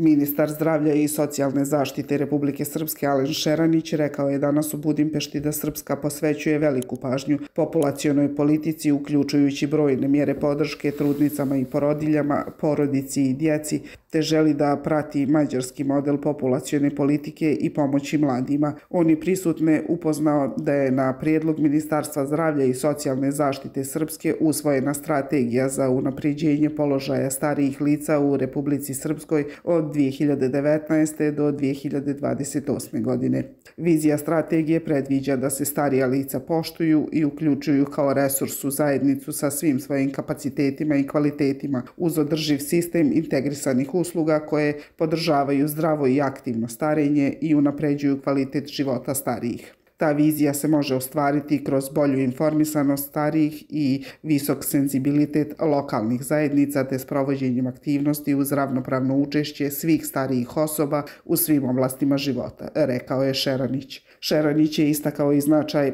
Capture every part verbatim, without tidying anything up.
Ministar zdravlja i socijalne zaštite Republike Srpske Alen Šeranić rekao je danas u Budimpešti da Srpska posvećuje veliku pažnju populacionoj politici, uključujući brojne mjere podrške trudnicama i porodiljama, porodici i djeci, te želi da prati mađarski model populacione politike i pomoći mladima. On je prisutne upoznao da je na prijedlog Ministarstva zdravlja i socijalne zaštite Srpske usvojena strategija za unapređenje položaja starijih lica u Republici Srpskoj od dvije hiljade devetnaeste. do dvije hiljade dvadeset osme. godine. Vizija strategije predviđa da se starija lica poštuju i uključuju kao resurs u zajednicu sa svim svojim kapacitetima i kvalitetima uz održiv sistem integrisanih usluga koje podržavaju zdravo i aktivno starenje i unapređuju kvalitet života starijih. Ta vizija se može ostvariti kroz bolju informisanost starijih i visok senzibilitet lokalnih zajednica te sprovođenjem aktivnosti uz ravnopravno učešće svih starijih osoba u svim oblastima života, rekao je Šeranić. Šeranić je istakao i značaj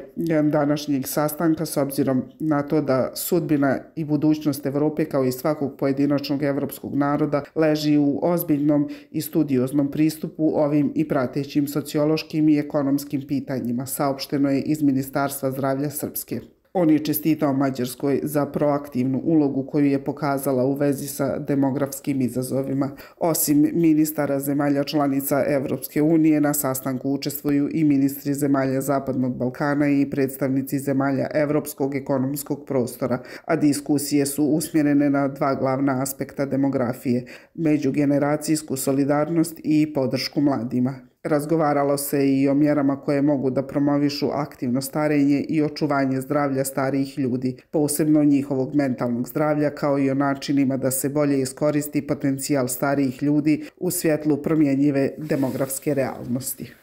današnjeg sastanka s obzirom na to da sudbina i budućnost Evrope kao i svakog pojedinačnog evropskog naroda leži u ozbiljnom i studioznom pristupu ovim i pratećim sociološkim i ekonomskim pitanjima, saopšteno je iz Ministarstva zdravlja Srpske. On je čestitao Mađarskoj za proaktivnu ulogu koju je pokazala u vezi sa demografskim izazovima. Osim ministara zemalja članica Evropske unije, na sastanku učestvuju i ministri zemalja Zapadnog Balkana i predstavnici zemalja Evropskog ekonomskog prostora, a diskusije su usmjerene na dva glavna aspekta demografije: međugeneracijsku solidarnost i podršku mladima. Razgovaralo se i o mjerama koje mogu da promovišu aktivno starenje i očuvanje zdravlja starijih ljudi, posebno njihovog mentalnog zdravlja, kao i o načinima da se bolje iskoristi potencijal starijih ljudi u svjetlu promjenjive demografske realnosti.